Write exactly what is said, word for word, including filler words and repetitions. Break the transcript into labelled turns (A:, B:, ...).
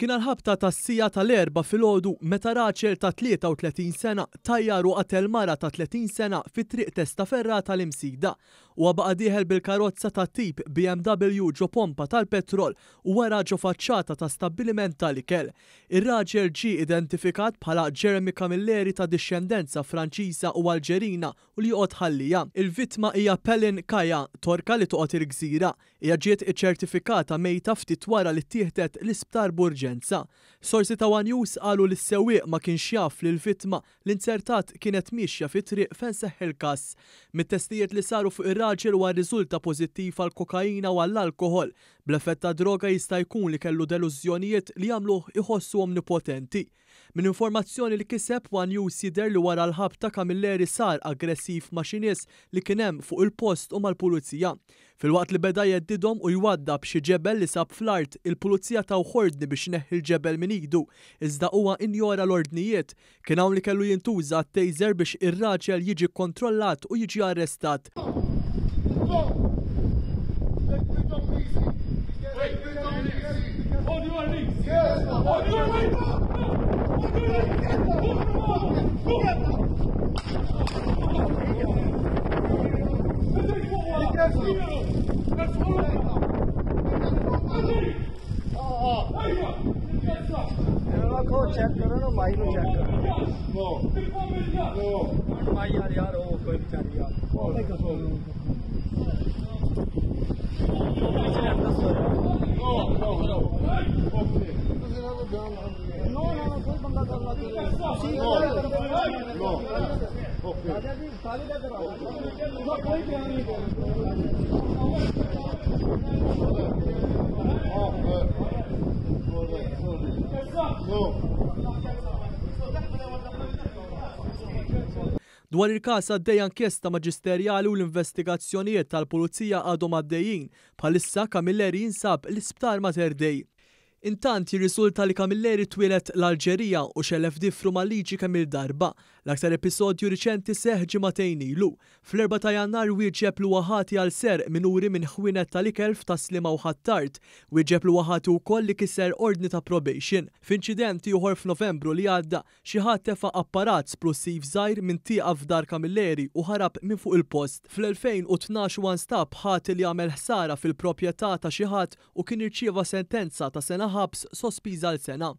A: Kien għall-ħabta tas-siegħa tal-Erbgħa filgħodu meta raġel ta' tlieta u tletin sena tajjar u qatel mara ta' tletin sena fi Triq Testaferrata l-Imsida. Huwa baqa' dieħel bil-karozza ta' tip B M W ġo pompa tal-petrol u wara ġo faċċata ta' stabbiliment tal-ikel. Ir-raġel ġie identifikat bħala Jeremy Camilleri ta' dixxendenza Franċiża u Alġerina u li joqgħod Ħal Lija. Il-vittma hija Pelin Kaya, Torka li toqgħod il-Gżira. Hija ġiet iċċertifikata mejta ftit wara li ttieħdet l-isptar b'urġenza. Sorsi ta' One News qalu li s-sewwieq ma kienx jaf li l-vittma li nzertat kienet miexja fi triq fejn seħħ il-każ. Mit-testijiet li saru fuq ir-raġel huwa rriżulta pożittiv għal kokaina u għall-alkoħol. Bl-effett ta' droga jista' jkun li kellu delużjonijiet li jagħmluh iħossu omnipotenti. Minn informazzjoni li kiseb One News jidher li wara l-ħabta Camilleri sar aggressiv ma' xi nies li kien hemm fuq il-post u mal-pulizija. Filwaqt li beda jheddidhom u jwaddab xi ġebel li sab fl-art, il-pulizija taw ordni biex ineħħi l-ġebel minn idu, iżda huwa injora l-ordnijiet. Kien hawn li kellu jintuża taser biex ir-raġel jiġi kontrollat u jiġi arrestat.
B: On your knees! On your knees! On your knees!
C: Check ਕਰੋ ਨਾ, ਮਾਈ ਨੂੰ ਚੈੱਕ ਕਰੋ। ਮਾਈ ਯਾਰ, ਯਾਰ ਉਹ ਕੋਈ ਵਿਚਾਰੀ ਯਾਰ। ਨੋ ਨੋ, ਕੋਈ ਬੰਦਾ ਕਰਨਾ ਤੁਸੀਂ ਨੋ। ਰਾਜਾ ਜੀ, ਸਾਰੇ ਦਾ ਕਰਵਾ ਕੋਈ ਬਿਆਨ ਨਹੀਂ।
A: Dwar il-każ għaddejja inkjesta maġisterjali u l-investigazzjonijiet tal-pulizija għadhom għaddejjin. Bħalissa Camilleri jinsab l-isptar Mater Dei. Intant jirriżulta li Camilleri twieled l-Alġerija u xellef difru mal-liġi kemm il-darba. L-aktar episodju riċenti seħħ ġimagħtejn ilu. Fl-erbgħa ta' Jannar wieġeb li huwa ħati għal serq minuri minn ħwienet tal-ikel f'Tas-Sliema u Ħ'Attard. Wieġeb li huwa ħati wkoll li kiser ordni ta' probation. F'inċident ieħor f'Novembru li għadda, xi ħadd tefa' apparat splussiv żgħir minn tieqa f'dar Camilleri u ħarab minn fuq il-post. Fl-elfejn u tnax huwa nstab ħati li għamel ħsara fil-proprjetà ta' xi ħadd u kien irċieva sentenza ta' sena ħabs sospiża għal sena.